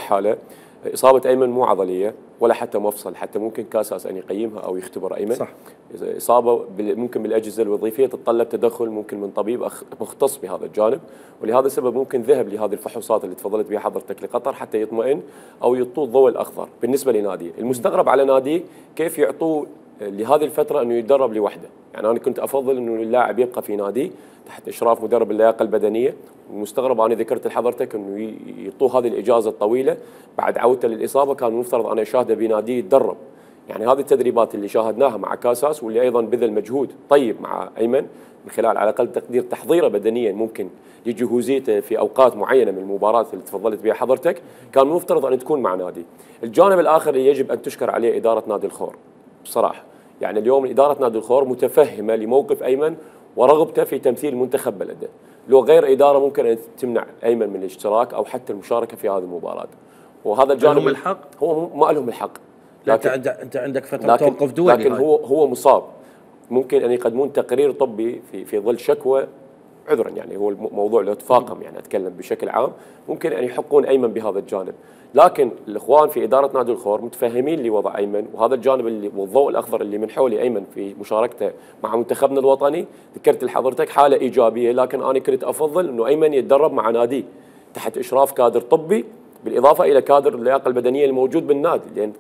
حاله اصابه ايمن مو عضليه ولا حتى مفصل، حتى ممكن كاساس ان يقيمها او يختبر ايمن. صح. اصابه ممكن بالاجهزه الوظيفيه تتطلب تدخل ممكن من طبيب مختص بهذا الجانب، ولهذا السبب ممكن ذهب لهذه الفحوصات اللي تفضلت بها حضرتك لقطر حتى يطمئن او يعطوه الضوء الاخضر. بالنسبه لناديه، المستغرب على ناديه كيف يعطوه لهذه الفتره انه يتدرب لوحده. يعني انا كنت افضل انه اللاعب يبقى في نادي تحت اشراف مدرب اللياقه البدنيه، والمستغرب انا ذكرت لحضرتك انه يعطوه هذه الاجازه الطويله بعد عودته للاصابه، كان المفترض انا اشاهده بناديه يتدرب. يعني هذه التدريبات اللي شاهدناها مع كاساس واللي ايضا بذل مجهود طيب مع ايمن من خلال على الاقل تقدير تحضيره بدنيا ممكن لجهوزيته في اوقات معينه من المباراه اللي تفضلت بها حضرتك، كان المفترض ان تكون مع نادي. الجانب الاخر اللي يجب ان تشكر عليه اداره نادي الخور بصراحه، يعني اليوم اداره نادي الخور متفهمه لموقف ايمن ورغبته في تمثيل منتخب بلده. لو غير اداره ممكن ان تمنع ايمن من الاشتراك او حتى المشاركه في هذه المباراه. وهذا الجانب لهم الحق؟ هو ما لهم الحق. لكن انت عندك فتره توقف دولي، لكن هو مصاب، ممكن ان يقدمون تقرير طبي في ظل شكوى، عذرا يعني هو الموضوع له تفاقم، يعني اتكلم بشكل عام، ممكن ان يحقون ايمن بهذا الجانب. لكن الاخوان في اداره نادي الخور متفهمين لوضع ايمن، وهذا الجانب اللي والضوء الاخضر اللي من حول ايمن في مشاركته مع منتخبنا الوطني. ذكرت لحضرتك حاله ايجابيه، لكن انا كنت افضل انه ايمن يتدرب مع ناديه تحت اشراف كادر طبي بالاضافه الى كادر اللياقه البدنيه الموجود بالنادي، لان